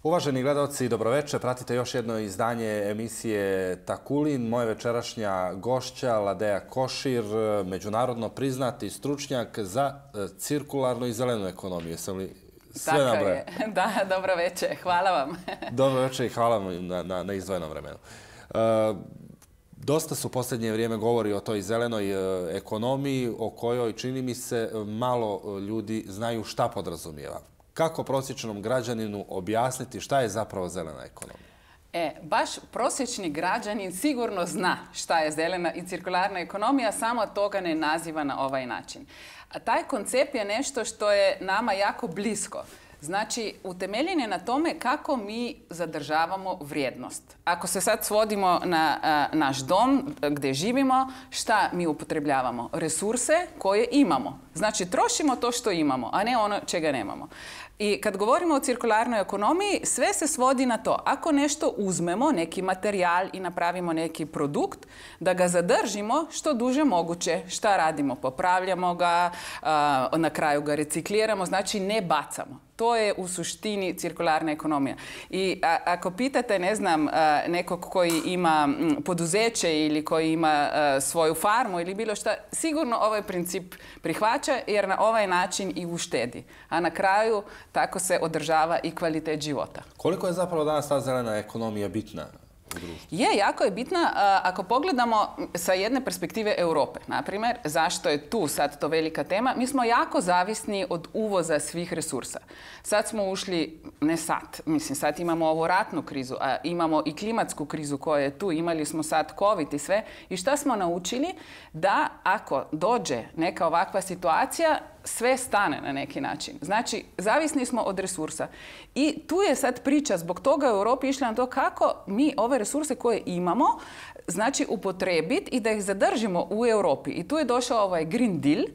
Uvaženi gledalci, dobroveče. Pratite još jedno izdanje emisije Takulin. Moja večerašnja gošća, Ladeja Košir, međunarodno priznati stručnjak za cirkularnu i zelenu ekonomiju. Jesam li sve nabrojao? Tako je. Da, dobroveče. Hvala vam. Dobroveče i hvala vam na izdvojenom vremenu. Dosta su u posljednje vrijeme govori o toj zelenoj ekonomiji, o kojoj, čini mi se, malo ljudi znaju šta podrazumijeva. Kako prosječnom građaninu objasniti šta je zapravo zelena ekonomija? Baš prosječni građanin sigurno zna šta je zelena i cirkularna ekonomija, samo toga ne naziva na ovaj način. A taj koncept je nešto što je nama jako blisko. Znači, utemeljen je na tome kako mi zadržavamo vrijednost. Ako se sad svodimo na naš dom gdje živimo, šta mi upotrebljavamo? Resurse koje imamo. Znači, trošimo to što imamo, a ne ono čega nemamo. I kad govorimo o cirkularnoj ekonomiji, sve se svodi na to. Ako nešto uzmemo, neki materijal i napravimo neki produkt, da ga zadržimo što duže moguće. Šta radimo? Popravljamo ga, na kraju ga recikliramo, znači ne bacamo. To je u suštini cirkularna ekonomija. I ako pitate, ne znam, nekog koji ima poduzeće ili koji ima svoju farmu ili bilo šta, sigurno ovaj princip prihvaća jer na ovaj način i uštedi. A na kraju tako se održava i kvalitet života. Koliko je zapravo danas ta zelena ekonomija bitna? Jako je bitna ako pogledamo sa jedne perspektive Europe. Naprimjer, zašto je tu sad to velika tema? Mi smo jako zavisni od uvoza svih resursa. Sad smo ušli, ne sad, mislim sad imamo ovu ratnu krizu, a imamo i klimatsku krizu koja je tu, imali smo sad COVID i sve. I šta smo naučili? Da ako dođe neka ovakva situacija, sve stane na neki način. Znači, zavisni smo od resursa. I tu je sad priča, zbog toga u Europi išla na to kako mi ove resurse koje imamo, znači upotrebiti i da ih zadržimo u Europi. I tu je došao ovaj Green Deal,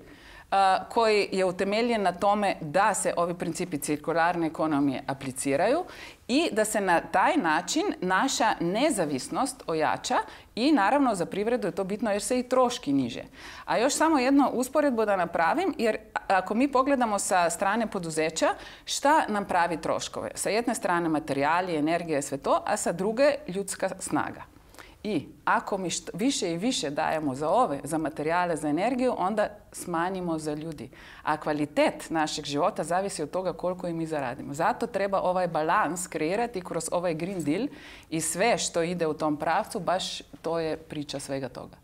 koji je utemeljen na tome da se ovi principi cirkularne ekonomije apliciraju i da se na taj način naša nezavisnost ojača i naravno za privredu je to bitno jer se i troški niže. A još samo jednu usporedbu da napravim, jer ako mi pogledamo sa strane poduzeća, šta nam pravi troškove? Sa jedne strane materijali, energija, sve to, a sa druge ljudska snaga. I ako mi više i više dajemo za materijale, za energiju, onda smanjimo za ljudi. A kvalitet našeg života zavisi od toga koliko i mi zaradimo. Zato treba ovaj balans kreirati kroz ovaj Green Deal i sve što ide u tom pravcu, baš to je priča svega toga.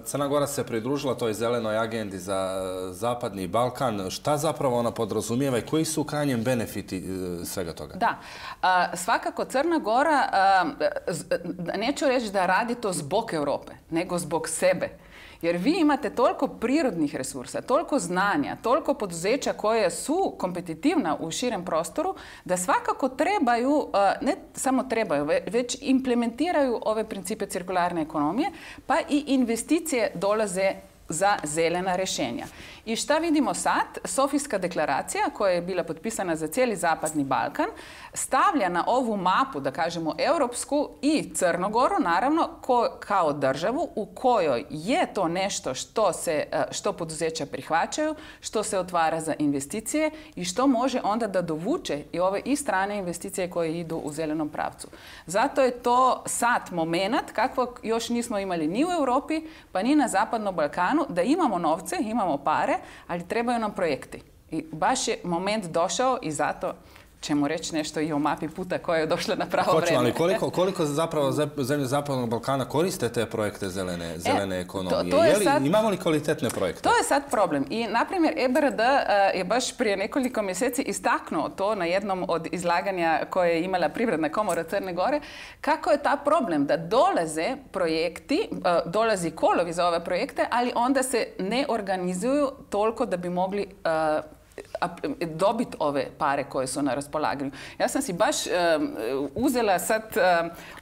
Crna Gora se pridružila toj zelenoj agendi za Zapadni Balkan. Šta zapravo ona podrazumijeva i koji su u krajnjem benefiti svega toga? Da, svakako Crna Gora, neću reći da radi to zbog Europe, nego zbog sebe. Jer vi imate toliko prirodnih resursa, toliko znanja, toliko poduzeća koje su kompetitivna u širem prostoru, da svakako trebaju, ne samo trebaju, već implementiraju ove principe cirkularne ekonomije, pa i investicije dolaze za zelena rješenja. I šta vidimo sad? Sofijska deklaracija koja je bila potpisana za cijeli Zapadni Balkan stavlja na ovu mapu, da kažemo europsku i Crnogoru, naravno, kao državu u kojoj je to nešto što poduzeća prihvaćaju, što se otvara za investicije i što može onda da dovuče i ove i strane investicije koje idu u zelenom pravcu. Zato je to sad moment kakvog još nismo imali ni u Europi, pa ni na Zapadnom Balkanu, da imamo novce, imamo pare, ali trebaju nam projekti. I baš je moment došao i zato ćemo reći nešto i o mapi puta koja je došla na pravo vreme. Ali koliko zapravo zemlje Zapadnog Balkana koriste te projekte zelene ekonomije? Imamo li kvalitetne projekte? To je sad problem. I, na primjer, EBRD je baš prije nekoliko mjeseci istaknuo to na jednom od izlaganja koje je imala Privredna komora Crne Gore, kako je ta problem da dolaze projekti, dolazi kolovi za ove projekte, ali onda se ne organizuju toliko da bi mogli dobiti ove pare koje su na raspolaganju. Ja sam si baš uzela sad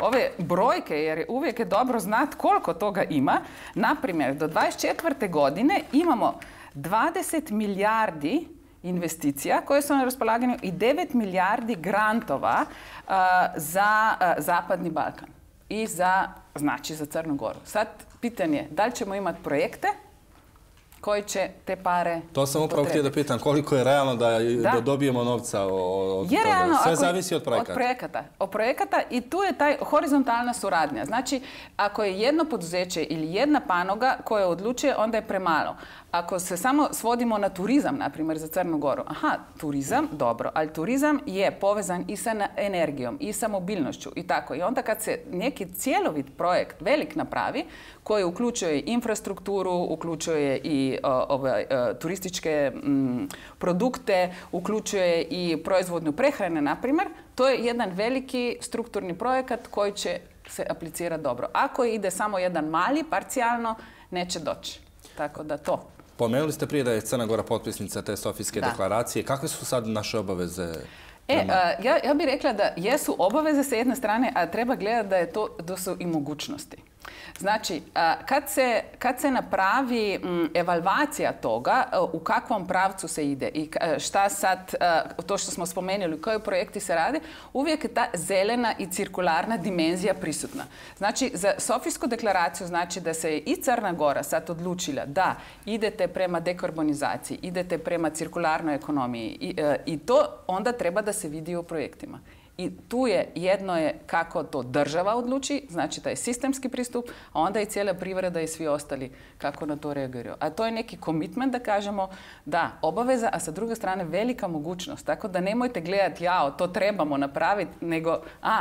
ove brojke jer uvijek je dobro znati koliko toga ima. Naprimjer, do 2024. godine imamo 20 milijardi investicija koje su na raspolaganju i 9 milijardi grantova za Zapadni Balkan i za Crnu Goru. Sad pitanje je da li ćemo imati projekte koji će te pare To sam upravo htio da pitam, koliko je realno da dobijemo novca od toga? Realno, sve zavisi od projekata. Od projekata i tu je taj horizontalna suradnja. Znači, ako je jedno poduzeće ili jedna panoga koja odlučuje, onda je premalo. Ako se samo svodimo na turizam, na primjer, za Crnu Goru, turizam, dobro, ali turizam je povezan i sa energijom, i sa mobilnošću i tako. I onda kad se neki cjelovit projekt velik napravi, koji uključuje infrastrukturu, uključuje i turističke produkte, uključuje i proizvodnu prehrane, na primjer, to je jedan veliki strukturni projekat koji će se aplicirati dobro. Ako ide samo jedan mali, parcijalno, neće doći. Tako da to. Pomenuli ste prije da je Crna Gora potpisnica te Sofijske deklaracije. Kakve su sad naše obaveze? Ja bih rekla da jesu obaveze sa jedne strane, a treba gledati da su i mogućnosti. Znači, kad se napravi evalvacija toga u kakvom pravcu se ide i šta sad, to što smo spomenuli, koji projekti se rade, uvijek je ta zelena i cirkularna dimenzija prisutna. Znači, za Sofijsku deklaraciju znači da se i Crna Gora sad odlučila da idete prema dekarbonizaciji, idete prema cirkularnoj ekonomiji i to onda treba da se vidi u projektima. I tu jedno je kako to država odluči, znači taj sistemski pristup, a onda i cijela privreda i svi ostali kako na to reagiraju. A to je neki commitment da kažemo da, obaveza, a sa druge strane velika mogućnost. Tako da nemojte gledati, to trebamo napraviti, nego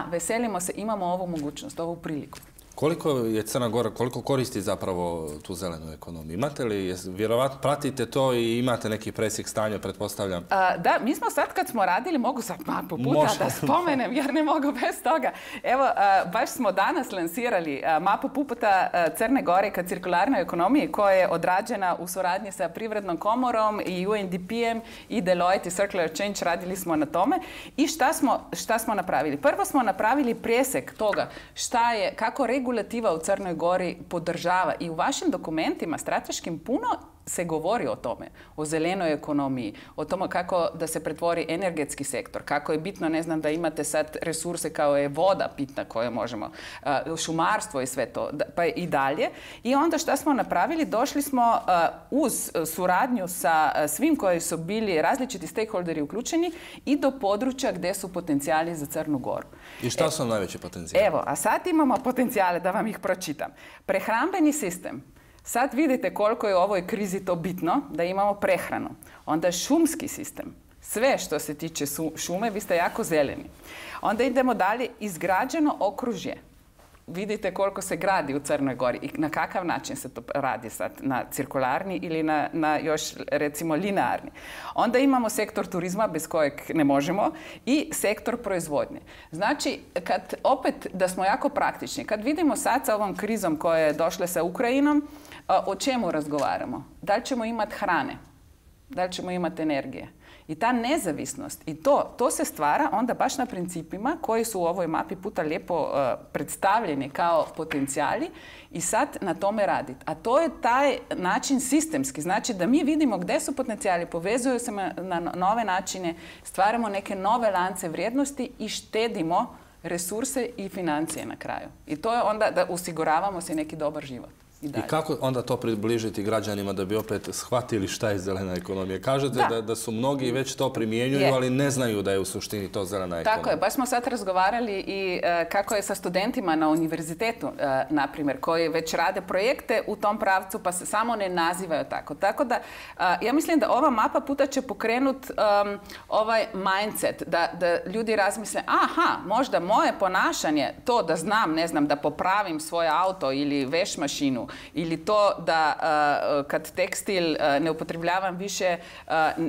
veselimo se, imamo ovu mogućnost, ovu priliku. Koliko je Crna Gora, koliko koristi zapravo tu zelenu ekonomiju? Imate li, vjerovatno pratite to i imate neki presjek stanja, pretpostavljam? Da, mi smo sad kad smo radili, mogu sad mapu puta da spomenem, jer ne mogu bez toga. Evo, baš smo danas lansirali mapu puta Crne Gore ka cirkularnoj ekonomiji koja je odrađena u suradnji sa Privrednom komorom i UNDP-em i Deloitte i Circular Change, radili smo na tome. I šta smo napravili? Prvo smo napravili presjek toga kako regulativa u Crnoj Gori podržava i u vašim dokumentima strateškim puno se govori o tome, o zelenoj ekonomiji, o tome kako da se pretvori energetski sektor, kako je bitno, ne znam, da imate sad resurse kao je voda bitna koje možemo, šumarstvo i sve to, pa i dalje. I onda šta smo napravili? Došli smo uz suradnju sa svim koji su bili različiti stakeholderi uključeni i do područja gdje su potencijali za Crnu Goru. I šta su najveći potencijali? Evo, a sad imamo potencijale, da vam ih pročitam. Prehrambeni sistem. Sad vidite koliko je u ovoj krizi to bitno da imamo prehranu. Onda šumski sistem. Sve što se tiče šume, vi ste jako zeleni. Onda idemo dalje, izgrađeno okružje. Vidite koliko se gradi u Crnoj Gori i na kakav način se to radi sad, na cirkularni ili na još recimo linearni. Onda imamo sektor turizma bez kojeg ne možemo i sektor proizvodnje. Znači, opet da smo jako praktični, kad vidimo sad sa ovom krizom koja je došla sa Ukrajinom, o čemu razgovaramo? Da li ćemo imati hrane? Da li ćemo imati energije? I ta nezavisnost i to se stvara onda baš na principima koji su u ovoj mapi puta lijepo predstavljeni kao potencijali i sad na tome raditi. A to je taj način sistemski, znači da mi vidimo gdje su potencijali, povezuju se na nove načine, stvaramo neke nove lance vrijednosti i štedimo resurse i financije na kraju. I to je onda da osiguravamo se neki dobar život. I kako onda to približiti građanima da bi opet shvatili šta je zelena ekonomija? Kažete da su mnogi već to primjenjuju, ali ne znaju da je u suštini to zelena ekonomija. Tako je, baš smo sad razgovarali i kako je sa studentima na univerzitetu, na primjer, koji već rade projekte u tom pravcu pa se samo ne nazivaju tako. Tako da, ja mislim da ova mapa puta će pokrenuti ovaj mindset, da ljudi razmisle, možda moje ponašanje, to da znam, ne znam, da popravim svoj auto ili veš mašinu, ili to da kad tekstil ne upotrebljavam više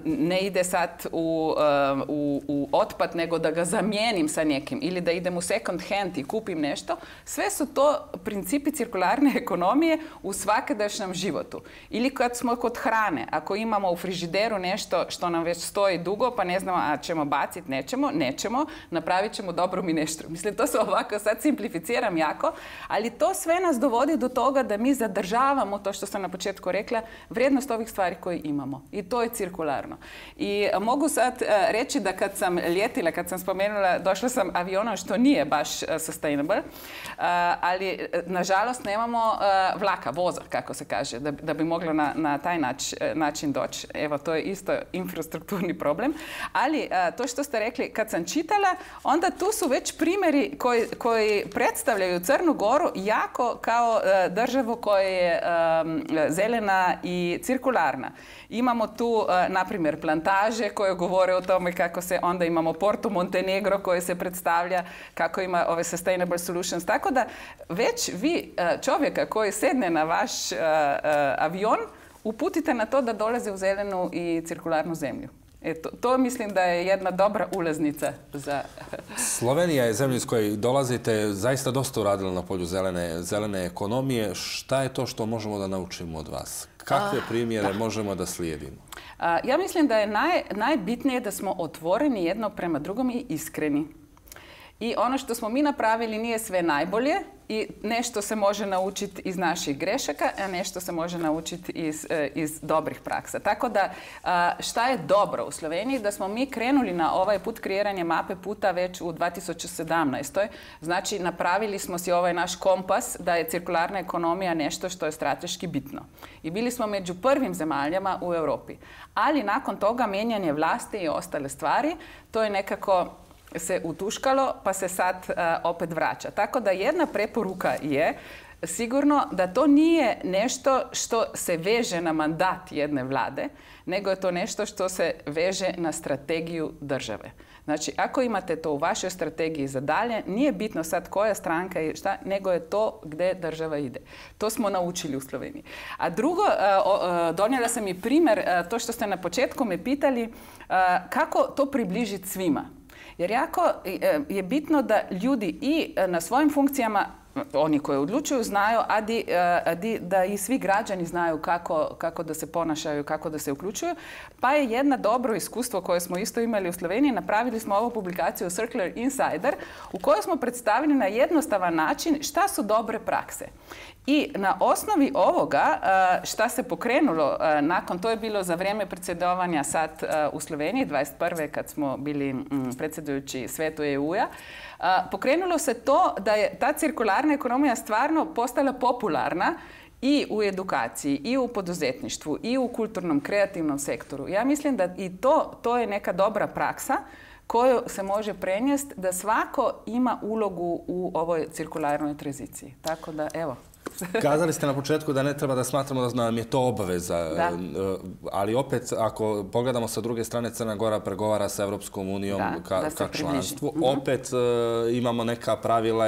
ne ide sad u otpad, nego da ga zamijenim sa nekim ili da idem u second hand i kupim nešto. Sve su to principi cirkularne ekonomije u svakodnevnom životu. Ili kad smo kod hrane, ako imamo u frižideru nešto što nam već stoji dugo, pa ne znamo, a ćemo baciti, nećemo, napravit ćemo dobru mineštru. Mislim, to se ovako sad simplificiram jako, ali to sve nas dovodi do toga da mi mi zadržavamo, to što sam na početku rekla, vrijednost ovih stvari koje imamo. I to je cirkularno. I mogu sad reći da kad sam ljetila, kad sam spomenula, došla sam avionom, što nije baš sustainable, ali nažalost nemamo vlaka, voza, kako se kaže, da bi moglo na taj način doći. Evo, to je isto infrastrukturni problem. Ali to što ste rekli, kad sam čitala, onda tu su već primjeri koji predstavljaju Crnu Goru jako kao državu koja je zelena i cirkularna. Imamo tu, na primjer, plantaže koje govore o tome kako se, onda imamo Porto Montenegro koje se predstavlja kako ima ove sustainable solutions. Tako da već vi čovjeka koji sedne na vaš avion uputite na to da dolaze u zelenu i cirkularnu zemlju. To mislim da je jedna dobra ulaznica za... Slovenija je zemlja iz koje dolazite, zaista dosta uradila na polju zelene ekonomije. Šta je to što možemo da naučimo od vas? Kakve primjere možemo da slijedimo? Ja mislim da je najbitnije da smo otvoreni jedno prema drugom i iskreni. I ono što smo mi napravili nije sve najbolje i nešto se može naučiti iz naših grešaka, a nešto se može naučiti iz dobrih praksa. Tako da šta je dobro u Sloveniji? Da smo mi krenuli na ovaj put kreiranje mape puta već u 2017. Znači napravili smo si ovaj naš kompas da je cirkularna ekonomija nešto što je strateški bitno. I bili smo među prvim zemaljama u Europi. Ali nakon toga mijenjanje vlasti i ostale stvari, to je nekako se utuškalo pa se sad opet vraća. Tako da jedna preporuka je sigurno da to nije nešto što se veže na mandat jedne vlade, nego je to nešto što se veže na strategiju države. Znači, ako imate to u vašoj strategiji za dalje, nije bitno sad koja stranka i šta, nego je to gdje država ide. To smo naučili u Sloveniji. A drugo, donijela sam i primjer, to što ste na početku me pitali, kako to približiti svima. Jer jako je bitno da ljudi i na svojim funkcijama, oni koji odlučuju, znaju, da i svi građani znaju kako da se ponašaju, kako da se uključuju. Pa je jedno dobro iskustvo koje smo isto imali u Sloveniji, napravili smo ovu publikaciju Circular Insider u kojoj smo predstavili na jednostavan način šta su dobre prakse. I na osnovi ovoga šta se pokrenulo nakon, to je bilo za vrijeme predsjedovanja sad u Sloveniji, 21. kad smo bili predsjedujući svetu EU-a, pokrenulo se to da je ta cirkularna ekonomija stvarno postala popularna i u edukaciji, i u poduzetništvu, i u kulturnom, kreativnom sektoru. Ja mislim da i to je neka dobra praksa koju se može prenijesti da svako ima ulogu u ovoj cirkularnoj tranziciji. Tako da, evo. Kazali ste na početku da ne treba da smatramo da nam je to obaveza, ali opet ako pogledamo sa druge strane, Crna Gora pregovara sa Evropskom unijom ka članstvu, opet imamo neka pravila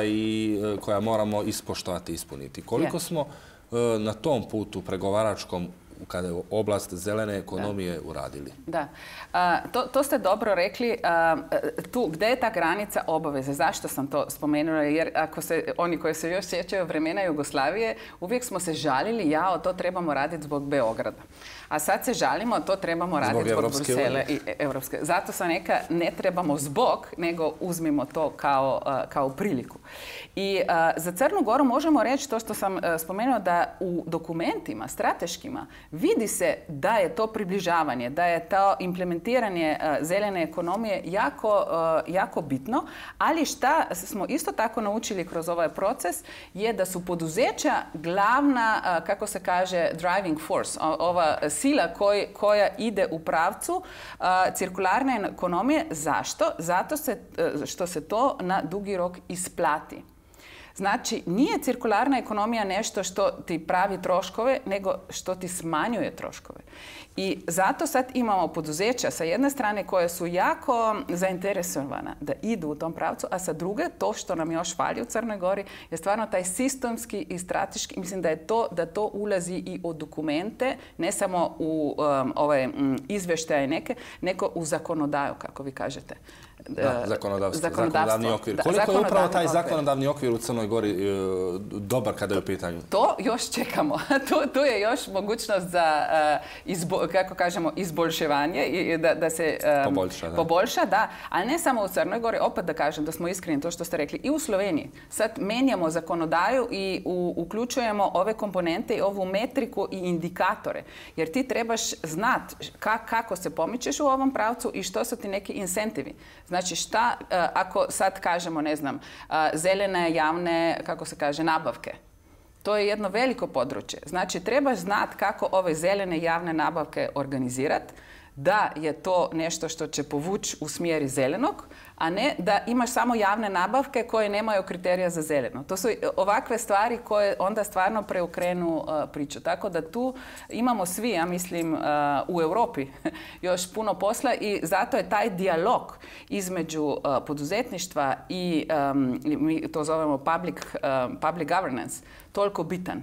koja moramo ispoštovati i ispuniti. Koliko smo na tom putu pregovaračkom kada je oblast zelene ekonomije uradili? Da, to ste dobro rekli. Tu, gdje je ta granica obaveze? Zašto sam to spomenula? Jer ako se oni koji se još sjećaju vremena Jugoslavije, uvijek smo se žalili, to trebamo raditi zbog Beograda. A sad se žalimo, to trebamo raditi zbog Brusela i Evropske. Zato sam neka, ne trebamo zbog, nego uzmimo to kao priliku. I za Crnu Goru možemo reći to što sam spomenula, da u dokumentima strateškima vidi se da je to približavanje, da je to implementiranje zelene ekonomije jako bitno, ali šta smo isto tako naučili kroz ovaj proces je da su poduzeća glavna, kako se kaže, driving force, ova sila koja ide u pravcu cirkularne ekonomije. Zašto? Zato što se to na dugi rok isplati. Znači, nije cirkularna ekonomija nešto što ti pravi troškove, nego što ti smanjuje troškove. I zato sad imamo poduzeća sa jedne strane koje su jako zainteresovana da idu u tom pravcu, a sa druge, to što nam još fali u Crnoj Gori, je stvarno taj sistemski i strateški, mislim da to ulazi i u dokumente, ne samo u ove izvještaje neke, nego u zakonodaju, kako vi kažete. zakonodavni okvir. Koliko je upravo taj zakonodavni okvir u Crnoj Gori dobar kada je u pitanju? To još čekamo. Tu je još mogućnost za, kako kažemo, izboljševanje, da se poboljša, da. Ali ne samo u Crnoj Gori, opet da kažem, da smo iskreni, to što ste rekli, i u Sloveniji. Sad menjamo zakonodaju i uključujemo ove komponente i ovu metriku i indikatore. Jer ti trebaš znati kako se pomičeš u ovom pravcu i što su ti neki incentivi. Znači šta, ako sad kažemo, ne znam, zelene javne, kako se kaže, nabavke. To je jedno veliko područje. Znači trebaš znati kako ove zelene javne nabavke organizirati, da je to nešto što će povući u smjeri zelenog, a ne da imaš samo javne nabavke koje nemaju kriterija za zeleno. To su ovakve stvari koje onda stvarno preokrenu priču. Tako da tu imamo svi, ja mislim, u Europi još puno posla i zato je taj dijalog između poduzetništva i, mi to zovemo public governance, toliko bitan.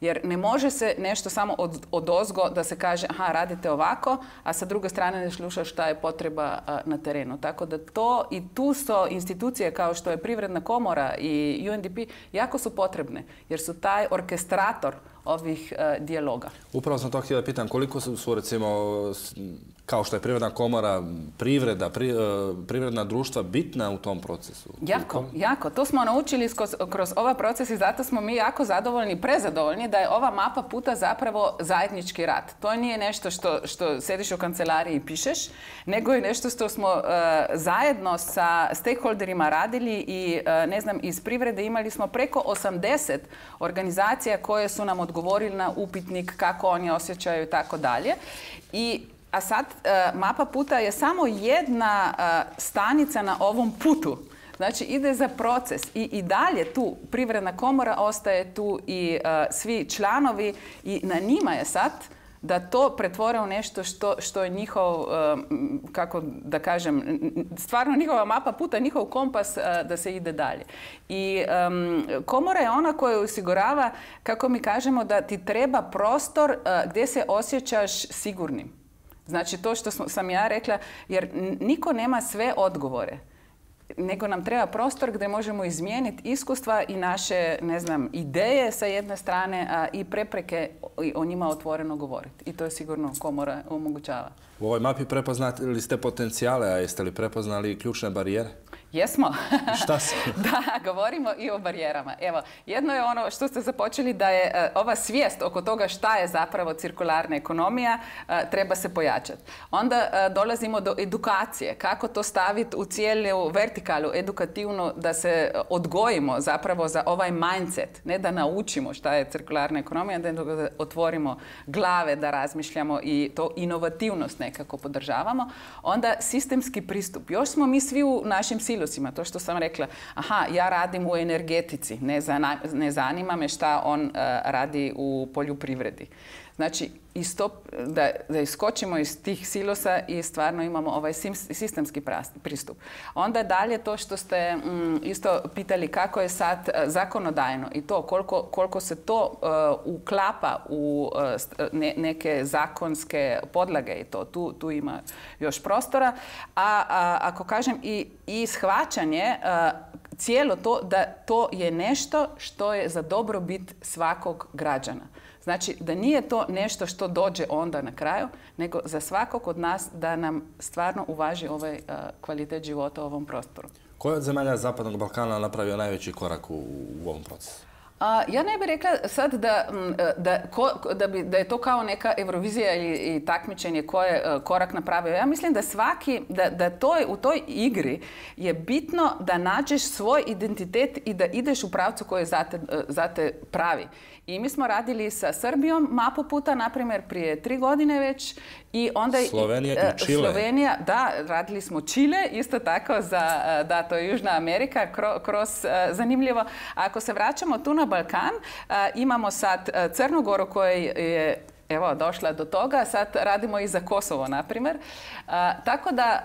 Jer ne može se nešto samo odozgo da se kaže aha, radite ovako, a sa druge strane ne slušaš šta je potreba na terenu. Tako da to i tu su institucije kao što je Privredna komora i UNDP jako su potrebne, jer su taj orkestrator ovih dijaloga. Upravo sam to htjela pitam, koliko su recimo, kao što je Privredna komora, privredna društva bitna u tom procesu? Jako. To smo naučili kroz ovaj proces i zato smo mi jako zadovoljni, prezadovoljni da je ova mapa puta zapravo zajednički rad. To nije nešto što sediš u kancelariji i pišeš, nego je nešto što smo zajedno sa stakeholderima radili i ne znam, iz privrede imali smo preko 80 organizacija koje su nam odgovorili na upitnik kako oni osjećaju i tako dalje. A sad, mapa puta je samo jedna stanica na ovom putu. Znači, ide za proces i dalje tu Privredna komora ostaje tu i svi članovi i na njima je sad da to pretvore u nešto što je njihov, kako da kažem, stvarno njihova mapa puta, njihov kompas da se ide dalje. I komora je ona koja osigurava, kako mi kažemo, da ti treba prostor gdje se osjećaš sigurnim. Znači to što sam ja rekla, jer niko nema sve odgovore, nego nam treba prostor gdje možemo izmijeniti iskustva i naše, ne znam, ideje sa jedne strane, a i prepreke o njima otvoreno govoriti. I to je sigurno komora omogućava. U ovoj mapi prepoznali ste potencijale, a jeste li prepoznali ključne barijere? Jesmo. Šta su? Da, govorimo i o barijerama. Evo, jedno je ono što ste započeli da je ova svijest oko toga šta je zapravo cirkularna ekonomija, treba se pojačati. Onda dolazimo do edukacije. Kako to staviti u cijelu vertikalu edukativnu da se odgojimo zapravo za ovaj mindset. Ne da naučimo šta je cirkularna ekonomija, nego da otvorimo glave, da razmišljamo i to inovativnost nekako podržavamo. Onda sistemski pristup. Još smo mi svi u našim silosima, to što sam rekla, aha, ja radim u energetici, ne zanima me šta on radi u poljoprivredi. Znači, da iskočimo iz tih silosa i stvarno imamo ovaj sistemski pristup. Onda dalje to što ste isto pitali kako je sad zakonodajno i to koliko se to uklapa u neke zakonske podlage i to. Tu ima još prostora. A ako kažem i shvaćanje cijelo to da to je nešto što je za dobrobit svakog građana. Znači da nije to nešto što dođe onda na kraju, nego za svakog od nas da nam stvarno uvaži ovaj kvalitet života u ovom prostoru. Koja od zemalja Zapadnog Balkana napravio najveći korak u ovom procesu? Ja ne bih rekla sad da je to kao neka Eurovizija ili takmičenje koje je korak napravio. Ja mislim da u toj igri je bitno da nađeš svoj identitet i da ideš u pravcu koji je za te pravi. I mi smo radili sa Srbijom mapu puta, na primjer, prije 3 godine već. I onda Slovenija i Čile. Slovenija, da, radili smo Čile, isto tako da, to je Južna Amerika, zanimljivo. Ako se vraćamo tu na Balkan, imamo sad Crnu Goru koja je došla do toga, sad radimo i za Kosovo, na primjer. Tako da,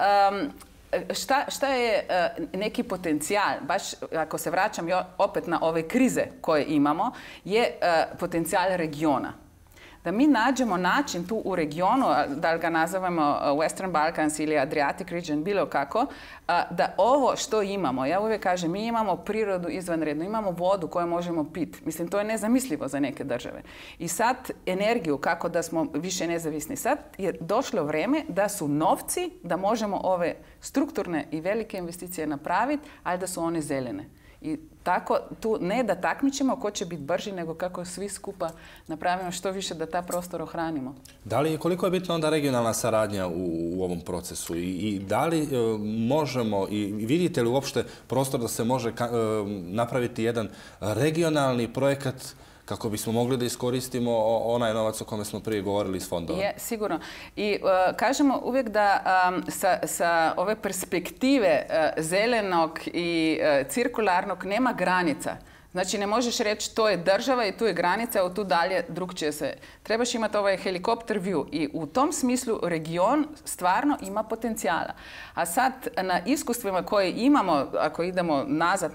šta je neki potencijal, baš ako se vraćam opet na ove krize koje imamo, je potencijal regiona. da mi nađemo način tu u regionu, da ga nazivamo Western Balkans ili Adriatic region, bilo kako, da ovo što imamo, ja uvijek kažem, mi imamo prirodu izvanrednu, imamo vodu koju možemo piti. Mislim, to je nezamislivo za neke države. I sad energiju, kako da smo više nezavisni. Sad je došlo vrijeme da su novci, da možemo ove strukturne i velike investicije napraviti, ali da su one zelene. I tako, tu ne da takmičimo ko će biti brži, nego kako svi skupa napravimo što više da ta prostor ohranimo. Da li, koliko je bitna onda regionalna saradnja u ovom procesu? I da li možemo, i vidite li uopšte prostor da se može napraviti jedan regionalni projekat kako bismo mogli da iskoristimo onaj novac o kome smo prije govorili iz fondova? Je, sigurno. I kažemo uvijek da sa ove perspektive zelenog i cirkularnog nema granica. Znači, ne možeš reći to je država i tu je granica, od tu dalje drugčije se. Trebaš imati ovaj helikopter view i u tom smislu region stvarno ima potencijala. A sad na iskustvima koje imamo, ako idemo nazad,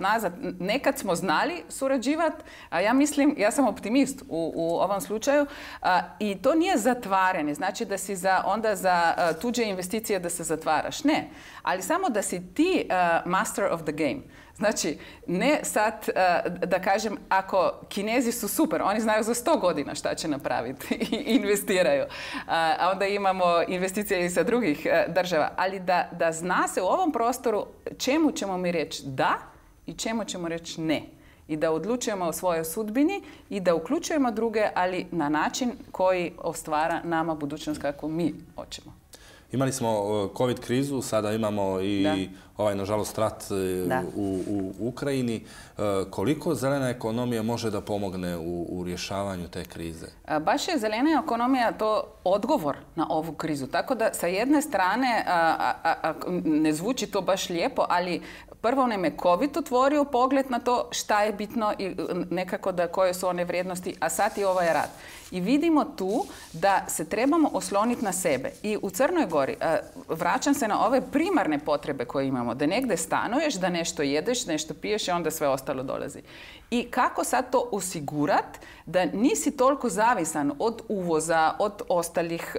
nekad smo znali surađivati, a ja mislim, ja sam optimist u ovom slučaju, i to nije zatvaranje, znači da si onda za tuđe investicije da se zatvaraš. Ne, ali samo da si ti master of the game. Znači, ne sad da kažem, ako Kinezi su super, oni znaju za 100 godina šta će napraviti i investiraju. A onda imamo investicije i sa drugih država. Ali da zna se u ovom prostoru čemu ćemo mi reći da i čemu ćemo reći ne. I da odlučujemo o svojoj sudbini i da uključujemo druge, ali na način koji ostvara nama budućnost kako mi hoćemo. Imali smo COVID krizu, sada imamo i ovaj, nažalost, rat u Ukrajini. Koliko zelena ekonomija može da pomogne u rješavanju te krize? Baš je zelena ekonomija to odgovor na ovu krizu. Tako da sa jedne strane, ne zvuči to baš lijepo, ali prvo nam je COVID otvorio pogled na to šta je bitno i nekako da koje su one vrijednosti, a sad i ovaj rat. I vidimo tu da se trebamo osloniti na sebe. I u Crnoj Gori, vraćam se na ove primarne potrebe koje imamo, da negdje stanuješ, da nešto jedeš, nešto piješ i onda sve ostalo dolazi. I kako sad to osigurati da nisi toliko zavisan od uvoza, od ostalih,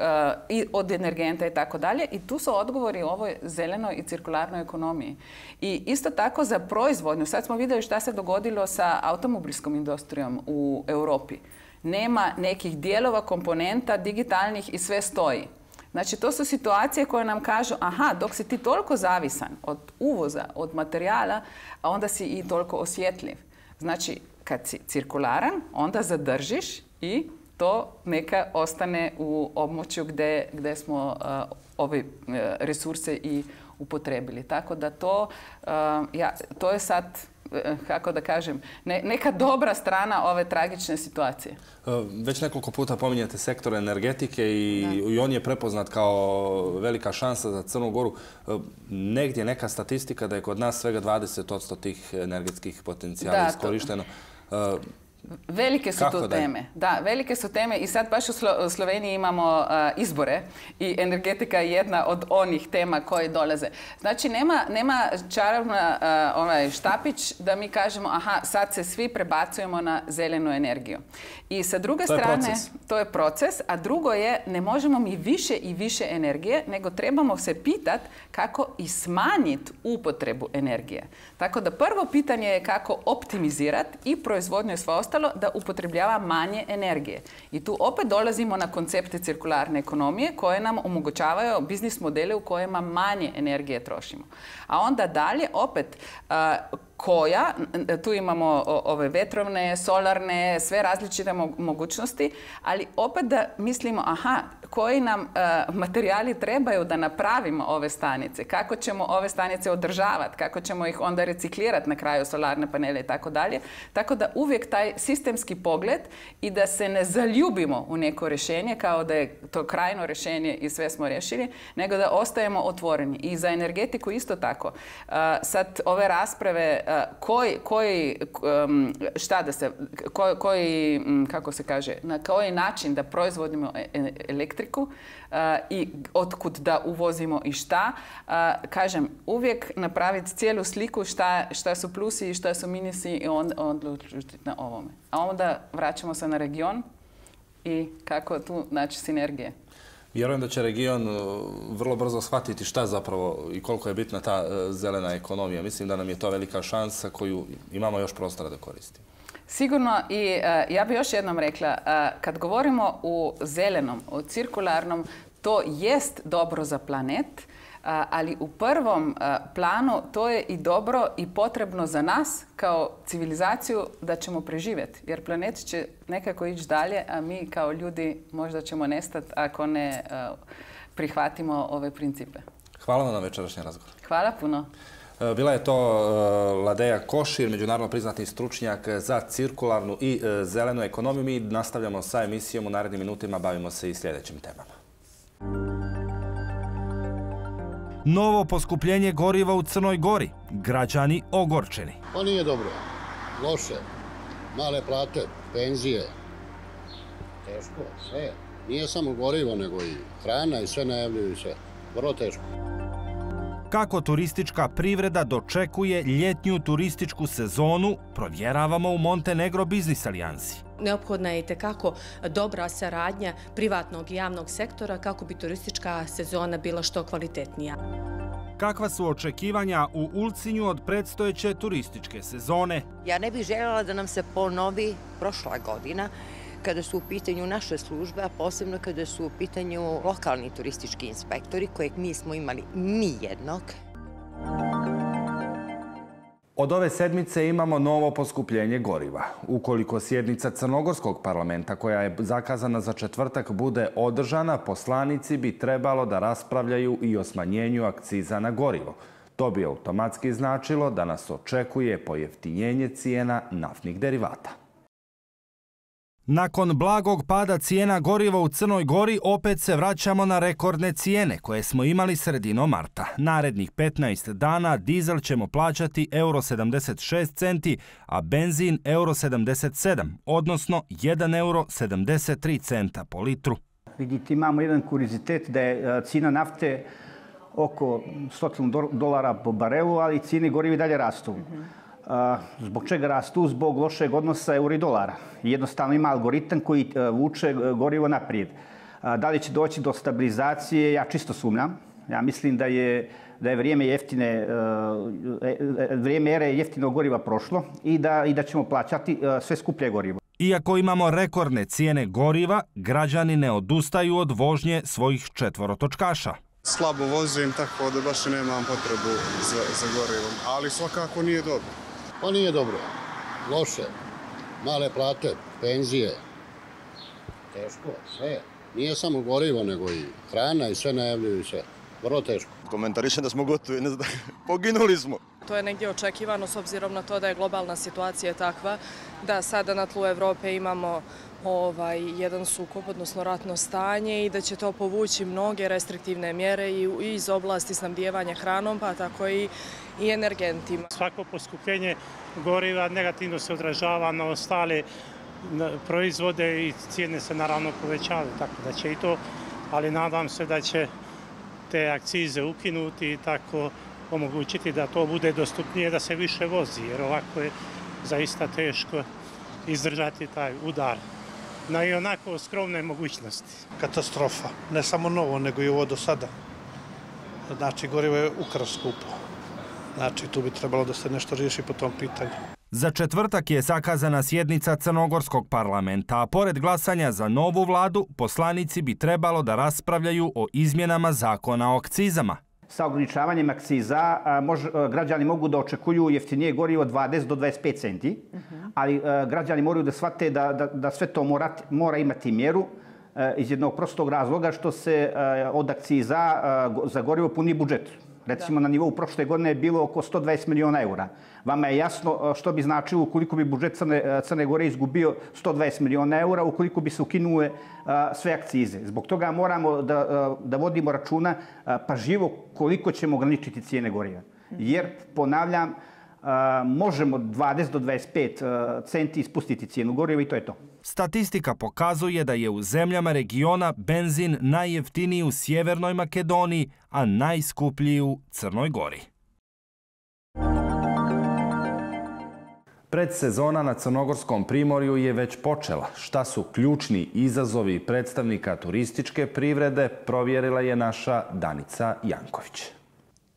od energenta i tako dalje. I tu su odgovori o ovoj zelenoj i cirkularnoj ekonomiji. I isto tako za proizvodnju. Sad smo vidjeli šta se dogodilo sa automobilskom industrijom u Europi. Nema nekih dijelova, komponenta, digitalnih i sve stoji. Znači, to su situacije koje nam kažu, aha, dok si ti toliko zavisan od uvoza, od materijala, a onda si i toliko osjetljiv. Znači, kad si cirkularan, onda zadržiš i to neka ostane u območju gdje smo ove resurse i upotrebili. Tako da to je sad, kako da kažem, neka dobra strana ove tragične situacije. Već nekoliko puta pominjate sektor energetike i on je prepoznat kao velika šansa za Crnu Goru. Negdje neka statistika da je kod nas svega 20% tih energetskih potencijala iskorišteno. Velike su to teme. Da, velike su teme i sad baš u Sloveniji imamo izbore i energetika je jedna od onih tema koje dolaze. Znači, nema čarobna štapić da mi kažemo, aha, sad se svi prebacujemo na zelenu energiju. I sa druge strane, to je proces, a drugo je, ne možemo mi više i više energije, nego trebamo se pitati kako i smanjiti upotrebu energije. Tako da prvo pitanje je kako optimizirati i proizvodnju i sve ostalo da upotrebljava manje energije. I tu opet dolazimo na koncepte cirkularne ekonomije koje nam omogućavaju biznis modele u kojima manje energije trošimo. A onda dalje opet tu imamo ove vetrovne, solarne, sve različite mogućnosti, ali opet da mislimo, aha, koji nam materijali trebaju da napravimo ove stanice, kako ćemo ove stanice održavati, kako ćemo ih onda reciklirati na kraju solarne panele i tako dalje. Tako da uvijek taj sistemski pogled i da se ne zaljubimo u neko rješenje kao da je to krajno rješenje i sve smo riješili, nego da ostajemo otvoreni. I za energetiku isto tako. Sad ove rasprave kako se kaže, na koji način da proizvodimo elektriku i otkud da uvozimo i šta. Kažem, uvijek napraviti cijelu sliku šta su plusi i šta su minusi i onda odlučiti na ovome. A onda vraćamo se na region i kako tu naći sinergije. Vjerujem da će region vrlo brzo shvatiti šta zapravo i koliko je bitna ta zelena ekonomija. Mislim da nam je to velika šansa koju imamo još prostora da koristimo. Sigurno i ja bih još jednom rekla, kad govorimo o zelenom, o cirkularnom, to jest dobro za planet, ali u prvom planu to je i dobro i potrebno za nas kao civilizaciju da ćemo preživjeti. Jer planet će nekako ići dalje, a mi kao ljudi možda ćemo nestati ako ne prihvatimo ove principe. Hvala vam na večerašnji razgovor. Hvala puno. Bila je to Ladeja Košir, međunarodno priznati stručnjak za cirkularnu i zelenu ekonomiju. Mi nastavljamo sa emisijom, u narednim minutima bavimo se i sljedećim temama. Novo poskupljenje goriva u Crnoj Gori. Građani ogorčeni. Pa nije dobro. Loše. Male plate, penzije. Teško, sve. Nije samo gorivo, nego i hrana i sve najavljuju sve. Vrlo teško. Kako turistička privreda dočekuje ljetnju turističku sezonu, provjeravamo u Montenegro Biznis alijansi. Neophodna je itekako dobra saradnja privatnog i javnog sektora kako bi turistička sezona bila što kvalitetnija. Kakva su očekivanja u Ulcinju od predstojeće turističke sezone? Ja ne bih željela da nam se ponovi prošla godina kada su u pitanju naše službe, a posebno kada su u pitanju lokalni turistički inspektori, kojeg nismo imali ni jednog. Od ove sedmice imamo novo poskupljenje goriva. Ukoliko sjednica Crnogorskog parlamenta, koja je zakazana za četvrtak, bude održana, poslanici bi trebalo da raspravljaju i o smanjenju akciza na gorivo. To bi automatski značilo da nas očekuje pojeftinjenje cijena naftnih derivata. Nakon blagog pada cijena goriva u Crnoj Gori, opet se vraćamo na rekordne cijene koje smo imali sredinom marta. Narednih 15 dana dizel ćemo plaćati €76 centi, a benzin €77, odnosno €1,73 centa po litru. Vidite, imamo jedan kurizitet da je cijena nafte oko $100 po barelu, ali cijene goriva i dalje rastu. Zbog čega rastu? Zbog lošeg odnosa eura i dolara. Jednostavno ima algoritam koji vuče gorivo naprijed. Da li će doći do stabilizacije? Ja čisto sumnjam. Ja mislim da je vrijeme ere jeftinog goriva prošlo i da ćemo plaćati sve skuplje gorivo. Iako imamo rekordne cijene goriva, građani ne odustaju od vožnje svojih četvorotočkaša. Slabo vozim, tako da baš nemam potrebu za gorivom, ali svakako nije dobro. Pa nije dobro. Loše. Male plate, penzije. Teško, sve. Nije samo gorivo, nego i hrana i sve najavljuju sve. Vrlo teško. Komentarišem da smo gotovi, ne znam, poginuli smo. To je negdje očekivano s obzirom na to da je globalna situacija takva da sada na tlu Evrope imamo jedan sukob, odnosno ratno stanje i da će to povući mnoge restriktivne mjere i iz oblasti snabdijevanja hranom, pa tako i energentima. Svako poskupljenje goriva negativno se odražava na ostale proizvode i cijene se naravno povećavaju, tako da će i to, ali nadam se da će te akcize ukinuti i tako omogućiti da to bude dostupnije, da se više vozi, jer ovako je zaista teško izdržati taj udar na i onako skromne mogućnosti. Katastrofa, ne samo novo, nego i ovo do sada. Znači, gorivo je ukras skupo. Znači, tu bi trebalo da se nešto riješi po tom pitanju. Za četvrtak je zakazana sjednica Crnogorskog parlamenta, a pored glasanja za novu vladu, poslanici bi trebalo da raspravljaju o izmjenama zakona o akcizama. Sa ograničavanjem akciza građani mogu da očekuju jeftinije gorivo 20 do 25 centi, ali građani moraju da shvate da sve to mora imati mjeru iz jednog prostog razloga što se od akciza za gorivo puni budžet. Recimo, na nivou prošle godine je bilo oko 120 miliona eura. Vama je jasno što bi značilo ukoliko bi budžet Crne Gore izgubio 120 miliona eura, ukoliko bi se ukinule sve akcize. Zbog toga moramo da vodimo računa pažljivo koliko ćemo ograničiti cijene goriva. Jer, ponavljam, možemo 20 do 25 centi ispustiti cijenu goriva i to je to. Statistika pokazuje da je u zemljama regiona benzin najjeftiniji u Sjevernoj Makedoniji, a najskuplji u Crnoj Gori. Predsezona na Crnogorskom primorju je već počela. Šta su ključni izazovi predstavnika turističke privrede, provjerila je naša Danica Janković.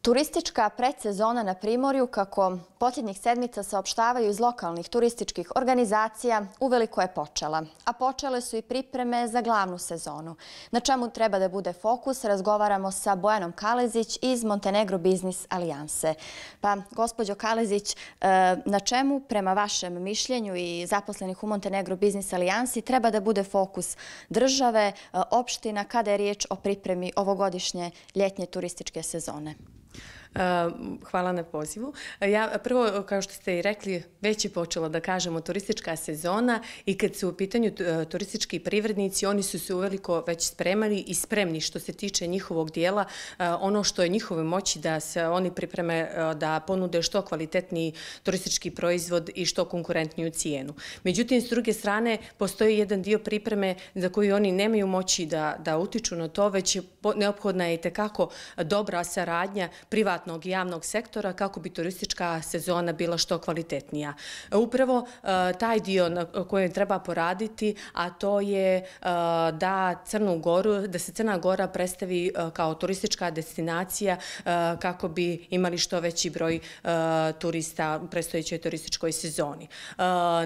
Turistička predsezona na Primorju, kako posljednjih sedmica saopštavaju iz lokalnih turističkih organizacija, uveliko je počela. A počele su i pripreme za glavnu sezonu. Na čemu treba da bude fokus, razgovaramo sa Bojanom Kalezić iz Montenegro Biznis Alijanse. Pa, gospođo Kalezić, na čemu, prema vašem mišljenju i zaposlenih u Montenegro Biznis Alijansi, treba da bude fokus države, opština, kada je riječ o pripremi ovogodišnje ljetnje turističke sezone? Hvala na pozivu. Ja prvo, kao što ste i rekli, već je počela, da kažemo, turistička sezona i kad su u pitanju turistički privrednici, oni su se uveliko već spremali i spremni što se tiče njihovog dijela, ono što je njihove moći da se oni pripreme da ponude što kvalitetniji turistički proizvod i što konkurentniju cijenu. Međutim, s druge strane, postoji jedan dio pripreme za koju oni nemaju moći da utiču na to, već neophodna je i tekako dobra saradnja privatnog i javnog sektora kako bi turistička sezona bila što kvalitetnija. Upravo taj dio na kojem treba poraditi, a to je da se Crna Gora predstavi kao turistička destinacija kako bi imali što veći broj turista u predstojećoj turističkoj sezoni.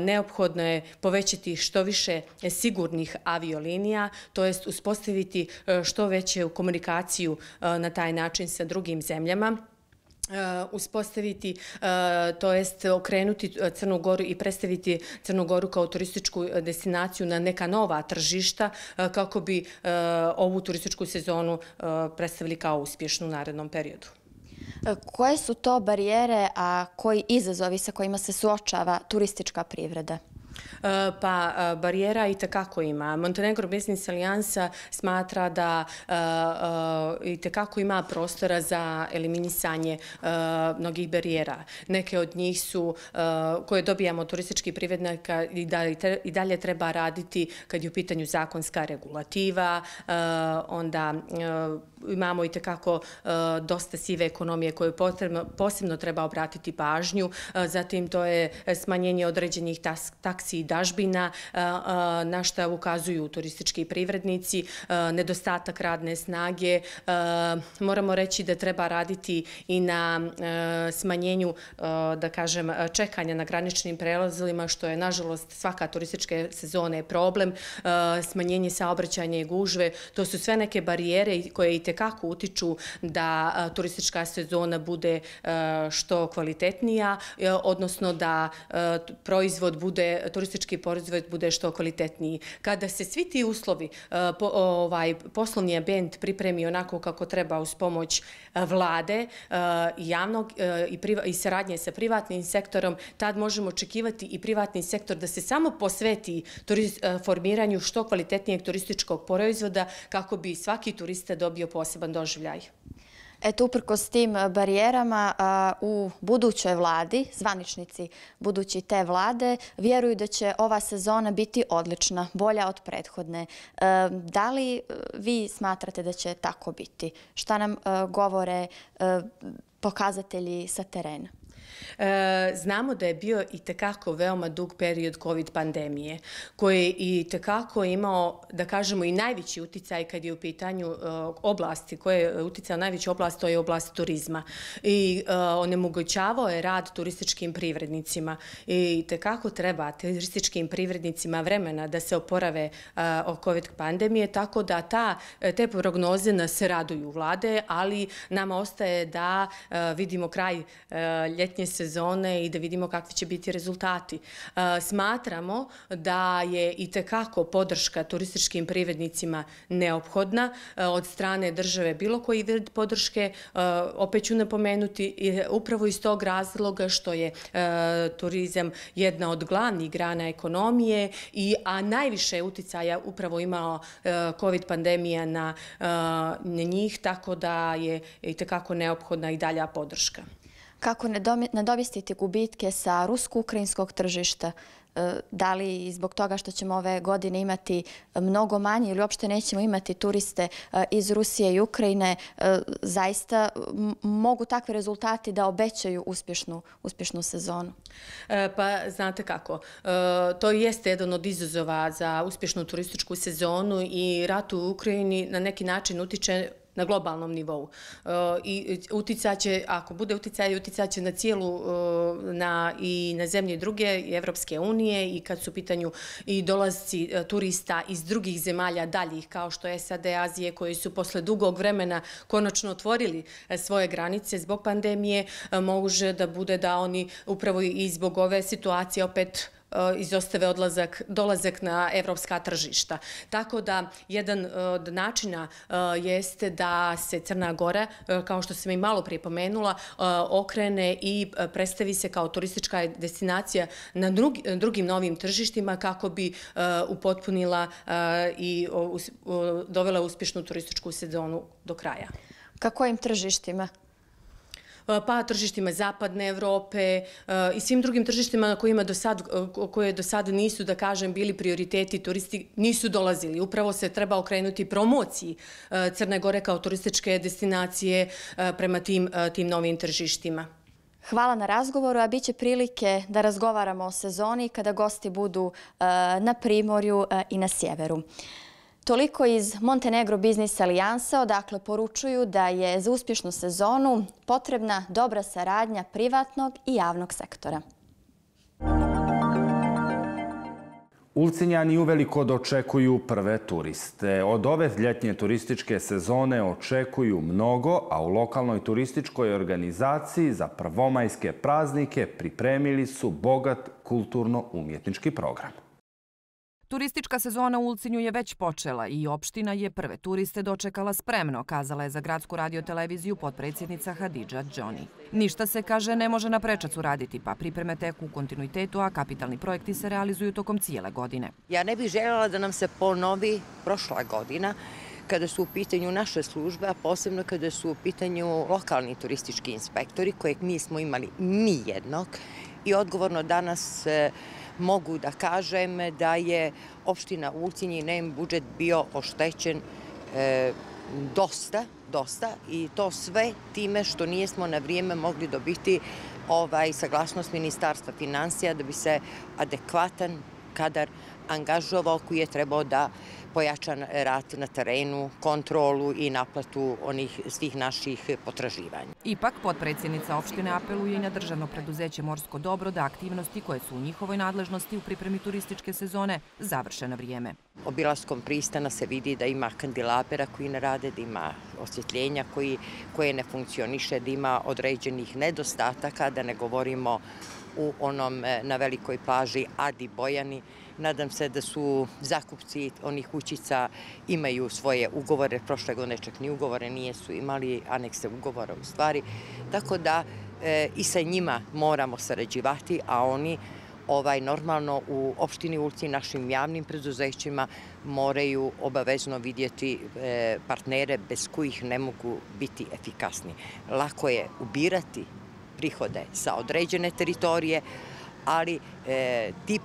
Neophodno je povećati što više sigurnih aviolinija, to jest uspostaviti što veću komunikaciju na taj način sa drugim zemljama, uspostaviti, to jest okrenuti Crnu Goru i predstaviti Crnu Goru kao turističku destinaciju na neka nova tržišta kako bi ovu turističku sezonu predstavili kao uspješnu u narednom periodu. Koje su to barijere, a koji izazovi sa kojima se suočava turistička privreda? Pa barijera i tekako ima. Montenegro Biznis Alijansa smatra da i tekako ima prostora za eliminisanje mnogih barijera. Neke od njih su koje dobijamo turistički privrednika i dalje treba raditi kad je u pitanju zakonska regulativa, onda imamo i tekako dosta sive ekonomije koje posebno treba obratiti pažnju. Zatim to je smanjenje određenih taksi i dažbina na šta ukazuju turistički privrednici, nedostatak radne snage. Moramo reći da treba raditi i na smanjenju, da kažem, čekanja na graničnim prelazima, što je, nažalost, svaka turistička sezona je problem. Smanjenje saobraćanja i gužve, to su sve neke barijere koje i tekako utiču da turistička sezona bude što kvalitetnija, odnosno da turistički proizvod bude što kvalitetniji. Kada se svi ti uslovi, poslovni ambijent pripremi onako kako treba uz pomoć vlade i saradnje sa privatnim sektorom, tad možemo očekivati i privatni sektor da se samo posveti formiranju što kvalitetnijeg turističkog proizvoda kako bi svaki turista dobio poseban doživljaj. Eto, uprkos tim barijerama u budućoj vladi, zvaničnici budući te vlade, vjeruju da će ova sezona biti odlična, bolja od prethodne. Da li vi smatrate da će tako biti? Šta nam govore pokazatelji sa terena? Znamo da je bio i tekako veoma dug period COVID pandemije, koji je i tekako imao, da kažemo, i najveći uticaj kad je u pitanju oblasti, koje je uticao najveći oblast, to je oblast turizma. I onemogućavao je rad turističkim privrednicima. I tekako treba turističkim privrednicima vremena da se oporave od COVID pandemije, tako da te prognoze nas raduju vlade, ali nama ostaje da vidimo kraj ljetnje sezone i da vidimo kakvi će biti rezultati. Smatramo da je i tekako podrška turističkim privrednicima neophodna od strane države, bilo koji vid podrške. Opet ću napomenuti upravo iz tog razloga što je turizam jedna od glavnih grana ekonomije, a najviše uticaja upravo imao COVID pandemija na njih, tako da je i tekako neophodna i dalja podrška. Kako nadomjestiti gubitke sa rusko-ukrajinskog tržišta? Da li zbog toga što ćemo ove godine imati mnogo manje ili uopšte nećemo imati turiste iz Rusije i Ukrajine, zaista mogu takvi rezultati da obećaju uspješnu sezonu? Pa znate kako, to jeste jedan od izazova za uspješnu turističku sezonu i rat u Ukrajini na neki način utiče na globalnom nivou. I uticaće, ako bude uticaj, uticaće na cijelu i na zemlje druge Evropske unije i kad su u pitanju i dolazci turista iz drugih zemalja daljih, kao što je SAD, Azije, koji su posle dugog vremena konačno otvorili svoje granice zbog pandemije, može da bude da oni upravo i zbog ove situacije opet izostave dolazak na evropska tržišta. Tako da jedan od načina jeste da se Crna Gora, kao što sam i malo prije pomenula, okrene i predstavi se kao turistička destinacija na drugim novim tržištima kako bi upotpunila i dovela uspješnu turističku sezonu do kraja. Ka kojim tržištima? Pa tržištima Zapadne Evrope i svim drugim tržištima koje do sada nisu, da kažem, bili prioriteti, turisti nisu dolazili. Upravo se treba okrenuti promociji Crne Gore kao turističke destinacije prema tim novim tržištima. Hvala na razgovoru, a bit će prilike da razgovaramo o sezoni kada gosti budu na Primorju i na sjeveru. Toliko iz Montenegro Biznis Alijansa, odakle poručuju da je za uspješnu sezonu potrebna dobra saradnja privatnog i javnog sektora. Ulcinjani uveliko dočekuju prve turiste. Od ove ljetnje turističke sezone očekuju mnogo, a u lokalnoj turističkoj organizaciji za prvomajske praznike pripremili su bogat kulturno-umjetnički program. Turistička sezona u Ulcinju je već počela i opština je prve turiste dočekala spremno, kazala je za Gradsku radioteleviziju potpredsjednica Hadidža Džoni. Ništa se, kaže, ne može na prečac uraditi, pa pripreme teku u kontinuitetu, a kapitalni projekti se realizuju tokom cijele godine. Ja ne bih željela da nam se ponovi prošla godina, kada su u pitanju naše službe, a posebno kada su u pitanju lokalni turistički inspektori, kojeg nismo imali ni jednog. I odgovorno danas mogu da kažem da je opština Ulcinj i njen budžet bio oštećen dosta i to sve time što nismo na vrijeme mogli dobiti saglasnost Ministarstva finansija da bi se adekvatan kadar angažovao koji je trebao da pojača rad na terenu, kontrolu i naplatu onih svih naših potraživanja. Ipak, potpredsjednica opštine apeluje i na državno preduzeće Morsko dobro da aktivnosti koje su u njihovoj nadležnosti u pripremi turističke sezone završe na vrijeme. Obilaskom pristana se vidi da ima kandelabera koji ne rade, da ima osvjetljenja koje ne funkcioniše, da ima određenih nedostataka, da ne govorimo u onom na velikoj plaži Adi Bojani. Nadam se da su zakupci onih kućica imaju svoje ugovore, prošle godine čak ni ugovore nisu imali, anekse ugovora u stvari. Tako da i sa njima moramo sarađivati, a oni normalno u opštini Ulcinj našim javnim preduzećima moraju obavezno vidjeti partnere bez kojih ne mogu biti efikasni. Lako je ubirati prihode sa određene teritorije, ali ti